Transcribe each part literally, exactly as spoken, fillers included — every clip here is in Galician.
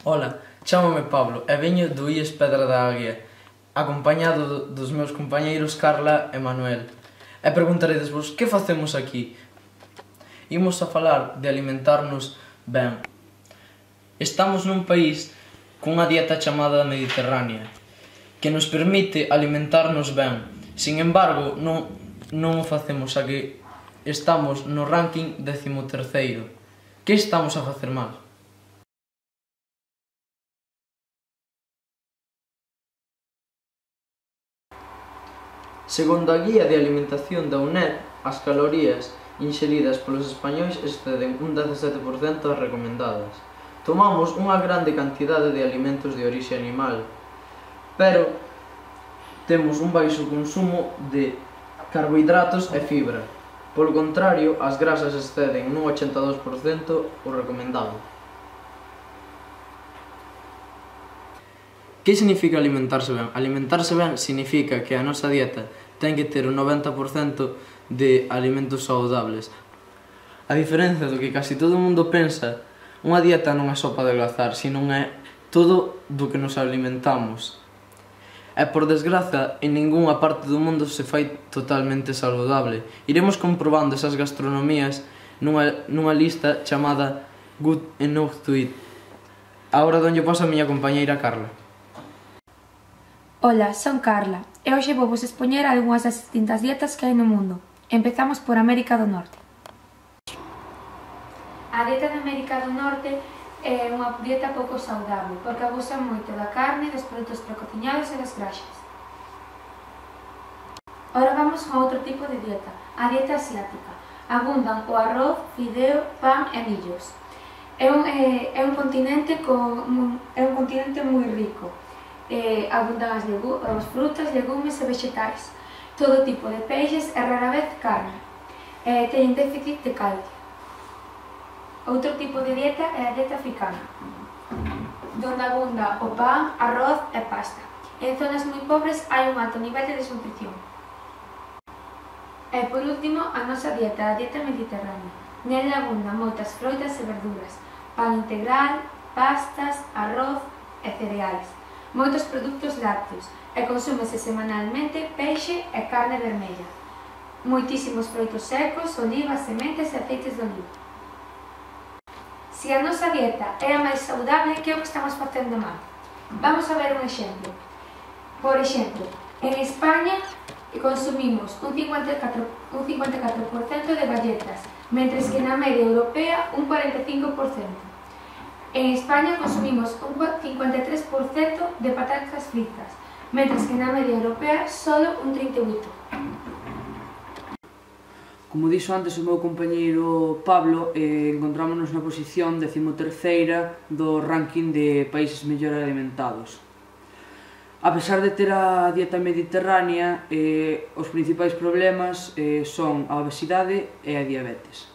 Ola, chámame Pablo e veño do I E S Pedra da Águia, acompañado dos meus compañeiros Carla e Manuel. E preguntaredesvos, que facemos aquí? Imos a falar de alimentarnos ben. Estamos nun país cunha dieta chamada mediterránea, que nos permite alimentarnos ben. Sin embargo, non, non o facemos, xa que estamos no ranking décimo terceiro. Que estamos a facer mal? Segundo a guía de alimentación da U N E D, as calorías inxeridas polos españois exceden un dezasete por cento das recomendadas. Tomamos unha grande cantidade de alimentos de orixe animal, pero temos un baixo consumo de carbohidratos e fibra. Polo contrario, as grasas exceden nun ochenta e dous por cento o recomendado. Que significa alimentarse ben? Alimentarse ben significa que a nosa dieta ten que ter un noventa por cento de alimentos saudables. A diferencia do que casi todo o mundo pensa, unha dieta non é só para adelgazar, sino é todo do que nos alimentamos. E por desgraza, en ningunha parte do mundo se fai totalmente saludable. Iremos comprobando esas gastronomías nunha, nunha lista chamada Good Enough to Eat. Agora donlle paso a miña compañeira Carla. Ola, son Carla e hoxe vou vos expoñer algunhas das distintas dietas que hai no mundo. Empezamos por América do Norte. A dieta de América do Norte é unha dieta pouco saudable porque abusa moito da carne, dos produtos precociñados e das graxas. Ora vamos con outro tipo de dieta, a dieta asiática. Abundan o arroz, fideo, pan e millos. É un, é, é un continente con, é un continente moi rico. Eh, abundan as, as frutas, legumes e vegetais, todo tipo de peixes e rara vez carne. Eh, teñen déficit de calcio. Outro tipo de dieta é a dieta africana, donde abunda o pan, arroz e pasta. En zonas moi pobres hai un alto nivel de desnutrición. E por último, a nosa dieta, a dieta mediterránea. Nela abundan moitas froitas e verduras, pan integral, pastas, arroz e cereais. Moitos produtos lácteos e consúmese semanalmente peixe e carne vermella. Moitísimos froitos secos, olivas, sementes e aceites de oliva. Se a nosa dieta é a máis saudable, que é o que estamos facendo mal? Vamos a ver un exemplo. Por exemplo, en España consumimos un cincuenta e catro por cento de galletas, mentres que na media europea un cuarenta e cinco por cento. En España consumimos un cincuenta e tres por cento de patatas fritas, mentres que na media europea solo un trinta e oito por cento. Como dixo antes o meu compañeiro Pablo, eh, encontrámonos na posición décimo terceira do ranking de países mellor alimentados. A pesar de ter a dieta mediterránea, eh, os principais problemas eh, son a obesidade e a diabetes.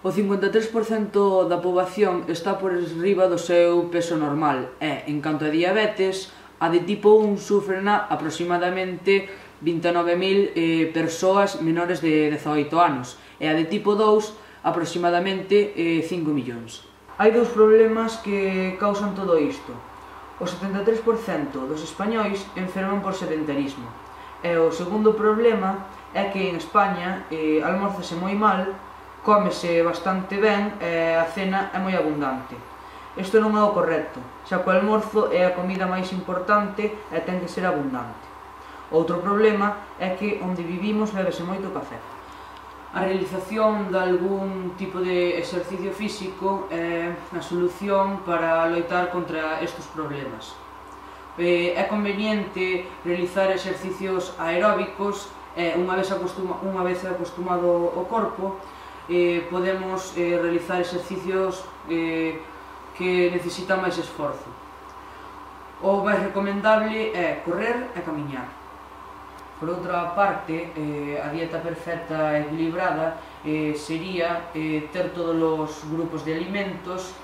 O cincuenta e tres por cento da poboación está por riba do seu peso normal e, en canto a diabetes, a de tipo un sufrena aproximadamente vinte e nove mil eh, persoas menores de dezaoito anos e a de tipo dous aproximadamente eh, cinco millóns. Hai dous problemas que causan todo isto. O setenta e tres por cento dos españois enferman por sedentarismo e o segundo problema é que en España eh, almórzase moi mal, cómese bastante ben e a cena é moi abundante. Isto non é o correcto, xa que o almorzo é a comida máis importante e ten que ser abundante. Outro problema é que onde vivimos bébese moito café. A realización de algún tipo de exercicio físico é a solución para loitar contra estes problemas. É conveniente realizar exercicios aeróbicos e unha vez, acostuma, unha vez acostumado o corpo, Eh, podemos eh, realizar exercicios eh, que necesitan máis esforzo. O máis recomendable é correr e camiñar. Por outra parte, eh, a dieta perfecta e equilibrada eh, sería eh, ter todos os grupos de alimentos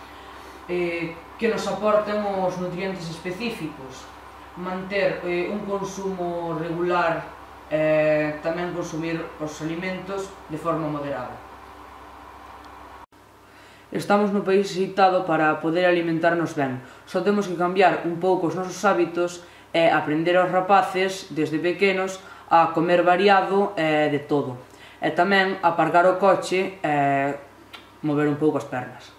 eh, que nos aporten os nutrientes específicos, manter eh, un consumo regular e eh, tamén consumir os alimentos de forma moderada. Estamos no país axeitado para poder alimentarnos ben. Só temos que cambiar un pouco os nosos hábitos e aprender aos rapaces, desde pequenos, a comer variado e de todo. E tamén aparcar o coche e mover un pouco as pernas.